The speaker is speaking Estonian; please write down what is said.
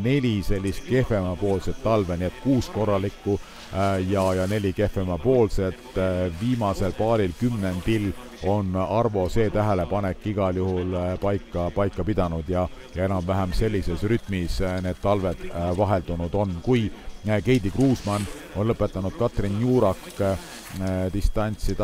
4 sellist kehvemapoolset talve, nii et 6 korralikku ja 4 kehvemapoolset. Viimasel paaril kümnendil on Arvo see tähelepanek igal juhul paika pidanud ja enam-vähem sellises rütmis need talved vaheldunud on. Kui Keidi Kruusmann on lõpetanud Katrin Juurak distantsi